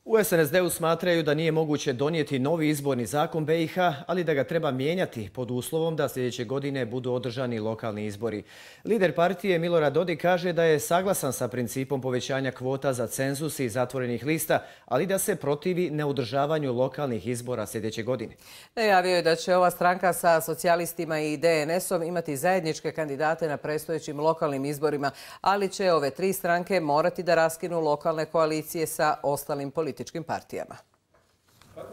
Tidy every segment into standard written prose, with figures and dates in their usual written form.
U SNSD-u smatraju da nije moguće donijeti novi izborni zakon BiH, ali da ga treba mijenjati pod uslovom da sljedeće godine budu održani lokalni izbori. Lider partije Milorad Dodik kaže da je saglasan sa principom povećanja kvota za cenzus i zatvorenih lista, ali da se protivi neodržavanju lokalnih izbora sljedeće godine. Najavio je da će ova stranka sa socijalistima i DNS-om imati zajedničke kandidate na predstojećim lokalnim izborima, ali će ove tri stranke morati da raskinu lokalne koalicije sa ostalim političkim partijama.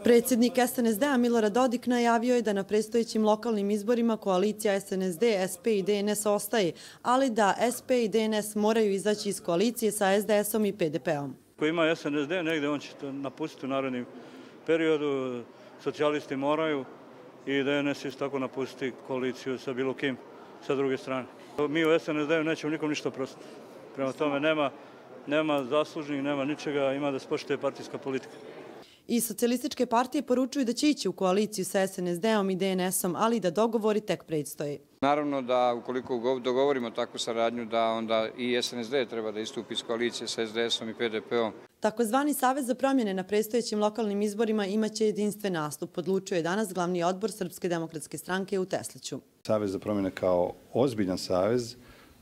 Predsjednik SNSD-a Milorad Dodik najavio je da na predstojećim lokalnim izborima koalicija SNSD, SP i DNS ostaje, ali da SP i DNS moraju izaći iz koalicije sa SDS-om i PDP-om. Ko ima SNSD negdje, on će to napustiti u narednom periodu, socijalisti moraju i DNS isto tako napustiti koaliciju sa bilo kim sa druge strane. Mi u SNSD-u nećemo nikom ništa oprostiti. Prema tome nema zaslužnih, nema ničega, ima da se poštuje partijska politika. I socijalističke partije poručuju da će ići u koaliciju sa SNSD-om i DNS-om, ali da dogovori tek predstoje. Naravno da ukoliko dogovorimo takvu saradnju, da onda i SNSD treba da istupi iz koalicije sa SDS-om i PDP-om. Takozvani Savez za promjene na predstojećim lokalnim izborima imaće jedinstven nastup, odlučio je danas glavni odbor Srpske demokratske stranke u Tesliću. Savez za promjene kao ozbiljan savez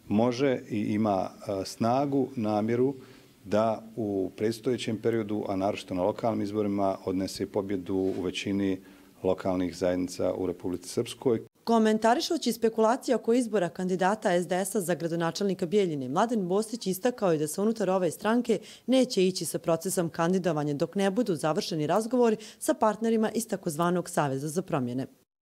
može i ima snagu, namjeru da u predstojećem periodu, a naročito na lokalnim izborima, odnese pobjedu u većini lokalnih zajednica u Republici Srpskoj. Komentarišući spekulacije oko izbora kandidata SDS-a za gradonačelnika Bijeljine, Mladen Bostić istakao je da se unutar ove stranke neće ići sa procesom kandidovanja dok ne budu završeni razgovori sa partnerima iz takozvanog Saveza za promjene.